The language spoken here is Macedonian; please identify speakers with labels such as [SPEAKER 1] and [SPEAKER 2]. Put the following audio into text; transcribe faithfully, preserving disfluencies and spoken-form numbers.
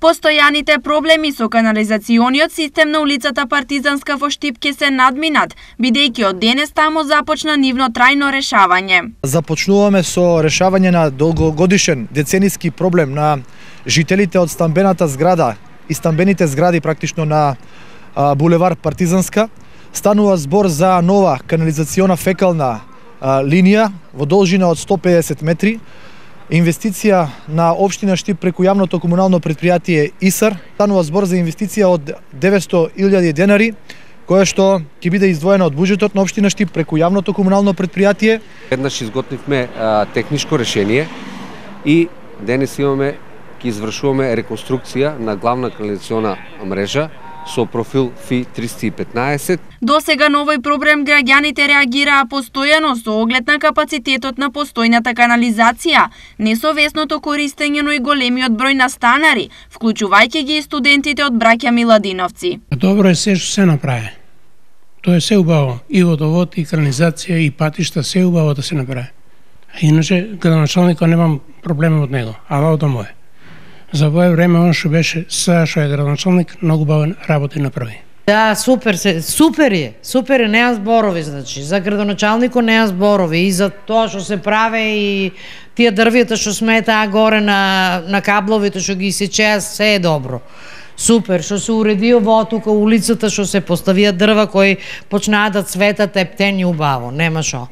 [SPEAKER 1] Постојаните проблеми со канализациониот систем на улицата Партизанска во Штип ќе се надминат, бидејќи од денес таму започна нивно трајно решавање.
[SPEAKER 2] Започнуваме со решавање на долгогодишен децениски проблем на жителите од стамбената зграда и стамбените згради практично на а, булевар Партизанска. Станува збор за нова канализациона фекална а, линија во должина од сто педесет метри. Инвестиција на општина Штип преку јавното комунално предпријатие ИСАР. Станува збор за инвестиција од деветсто илјади денари, која што ќе биде издвоена од буџетот на општина Штип преку јавното комунално предпријатие.
[SPEAKER 3] Еднаш изготвивме а, техничко решение и денес имаме ќе извршуваме реконструкција на главна канализациона мрежа со профил Ф триста и петнаесет.
[SPEAKER 1] До сега на овој проблем граѓаните реагираа постојано со оглед на капацитетот на постојната канализација, несовесното користење, но и големиот број на станари, вклучувајќи ги и студентите од браќа Миладиновци.
[SPEAKER 4] Добро е се што се направи. Тоа е се убаво. И водовод, и канализација, и патишта, се убаво да се направи. А иначе, градоначалникот немам проблеми од него, ала од мој. За овој време он што беше сега што е градоначалник, многу бавен работи направи.
[SPEAKER 5] Да, супер се, супер е, супер е, неа зборови, значи, за градоначалникот неа зборови и за тоа што се прави и тие дрвјата што сметаа горе на, на кабловите што ги сечеа, се е добро. Супер, што се уреди ово тука улицата, што се поставија дрва кои почнаа да цветат ептени убаво, нема шо.